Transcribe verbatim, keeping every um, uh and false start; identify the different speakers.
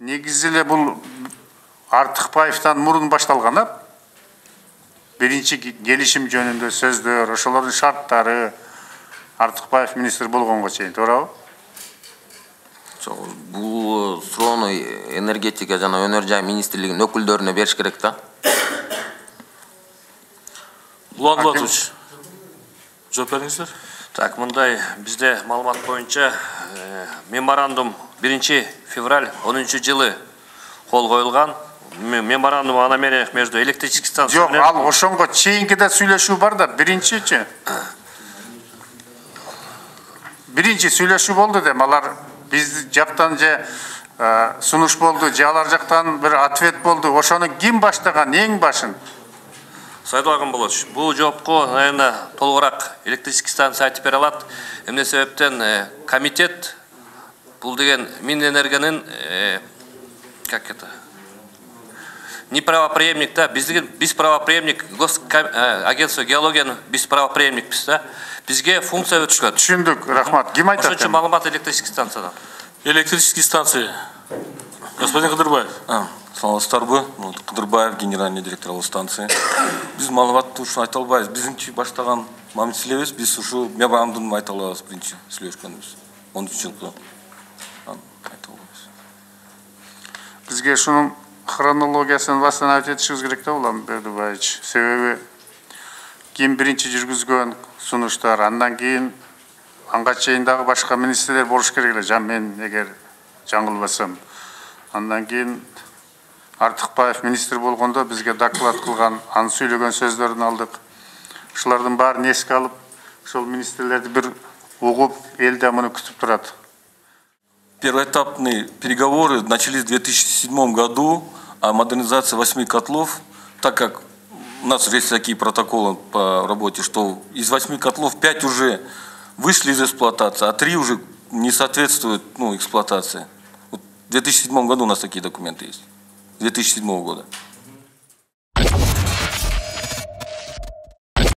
Speaker 1: Негизи эле бул Артыкбаевден мурун башталган, а? Биринчи келишим жөнүндө сөздөр, ошолордун шарттары Артыкбаев министр болгонго чейин, туурабы?
Speaker 2: Бул суроону энергетика жана өнөр жай министрлигинин өкүлдөрүнө бериш керек да.
Speaker 3: Улан Булатович, жооп бериңиздер.
Speaker 4: Так, мындай бизде маалымат боюнча меморандум биринчи февраль онунчу жылы кол коюлган. Меморандум о намерениях между электрической станцией.
Speaker 1: Жок, ал ошонго чейинки да сүйлөшүү бар да, биринчичи. Биринчи сүйлөшүү болду дем, алар биз жактан же сунуш болду, же алар жактан бир ответ болду. Ошону ким баштаган, эң башын?
Speaker 4: Сайдуллаган Болотович, бул жоопко, наверное, толугураак электрический станция айтып бере алат. Эмне себептен комитет бул деген Минэнергонун как это? Не правопреемник, да, биздин биз правопреемник, агентство геологиянын биз правопреемникпиз да. Бизге функция өтүшкөн.
Speaker 1: Түшүндүк, рахмат. Ким айтат?
Speaker 4: Ошончо маалымат электрический станциядан.
Speaker 3: Электрический станция. Господин Кыдырбаев.
Speaker 5: Саламатсыздарбы? Кыдырбаев, генеральный директор ал станции. Биз маалыматты ушуну айта албайбыз. Биздинчи баштаган мамиле элебиз. Биз ушу меморандумду айта алабыз биринчи сүйлөшкөнбүз. онунчу жылкы. Айта албайбыз.
Speaker 1: Бизге ушунун хронологиясын баштан айтып кетишибиз керек да, Улан Бердибаевич. Себеби ким биринчи жүргүзгөн сунуштар, андан кийин анга чейин дагы башка министрлер болуш керек эле, жан мен эгер жаңылбасам. Андан кийин Артыкбаев министр болгондо бизге доклад кылган, аны сүйлөгөн сөздөрүн алдык. Ушулардын баарын эске алып, ошол министрлерди бир угуп, эл да муну күтүп турат.
Speaker 5: Первоэтапные переговоры начались в две тысячи седьмом году о модернизации восьми котлов, так как у нас есть такие протоколы по работе, что из восьми котлов пять уже вышли из эксплуатации, а три уже не соответствуют ну, эксплуатации. Вот в две тысячи седьмом году у нас такие документы есть. две тысячи седьмого года.